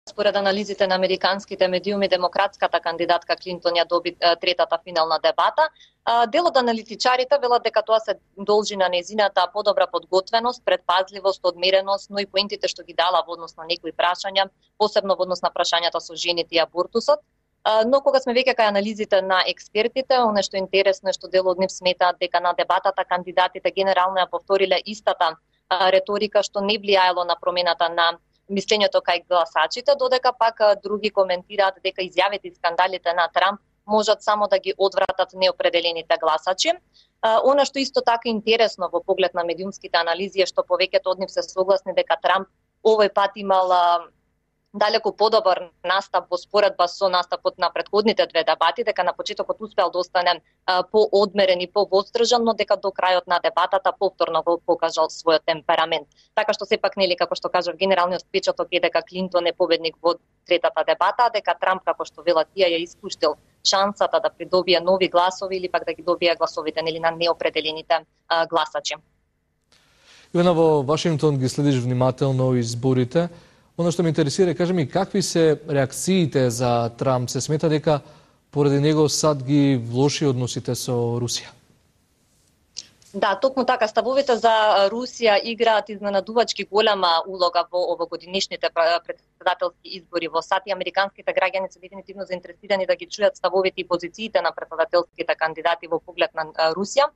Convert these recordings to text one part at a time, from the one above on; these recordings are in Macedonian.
според анализите на американските медиуми, демократската кандидатка Клинтон ја доби третата финална дебата. Дел од аналитичарите велат дека тоа се должи на нејзината подобра подготвеност, предпазливост, одмереност, но и поентите што ги дала во однос на некои прашања, посебно во однос на прашањата со жените и абортусот. Но кога сме веќе кај анализите на експертите, оно што е интересно е што дел од нив сметаат дека на дебатата кандидатите генерално ја повториле истата реторика што не влијаело на промената на мислењето кај гласачите, додека пак други коментираат дека изјавите и скандалите на Трамп можат само да ги одвратат неопределените гласачи. Она што исто така интересно во поглед на медиумските анализи е што повеќето од нив се согласни дека Трамп овој пат имал далеку подобар настап во споредба со настапот на претходните две дебати, дека на почетокот успеал да остане поодмерен и повоздржан, но дека до крајот на дебатата повторно го покажал својот темперамент. Така што сепак нели како што кажав, генералниот впечаток е дека Клинтон е победник во третата дебата, дека Трамп, како што велат тие, ја испуштил шансата да придобие нови гласови или пак да ги добие гласовите нели на неопределените гласачи. Ивана, во Вашингтон ги следиш внимателно изборите. Оно што ме интересира, кажи ми, какви се реакциите за Трамп? Се смета дека поради него сад ги влоши односите со Русија? Да, токму така, ставовите за Русија играат изненадувачки голема улога во овогодинешните председателски избори во САД и американските граѓани се дефинитивно заинтересирани да ги чујат ставовите и позициите на председателските кандидати во поглед на Русија.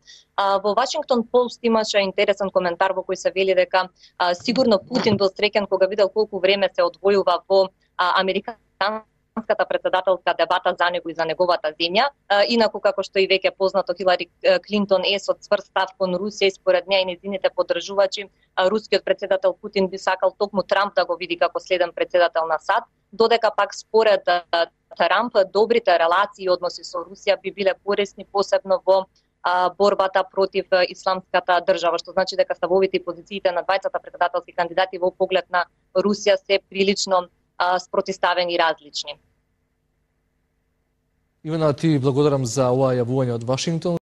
Во Вашингтон Пост имаше интересен коментар во кој се вели дека сигурно Путин бил среќен кога видел колку време се одвојува во американската председателска дебата за него и за неговата земја. Инаку, како што и веќе познато, Хилари Клинтон е со цврст став кон Русија и според неа и нејзините поддржувачи, рускиот председател Путин би сакал токму Трамп да го види како следен председател на САД, додека пак според Трамп добрите релации и односи со Русија би биле корисни посебно во борбата против исламската држава, што значи дека ставовите и позициите на двајцата председателски кандидати во поглед на Русија се прилично спротиставени и различни. Ивана, ти благодарам за ова јавување од Вашингтон.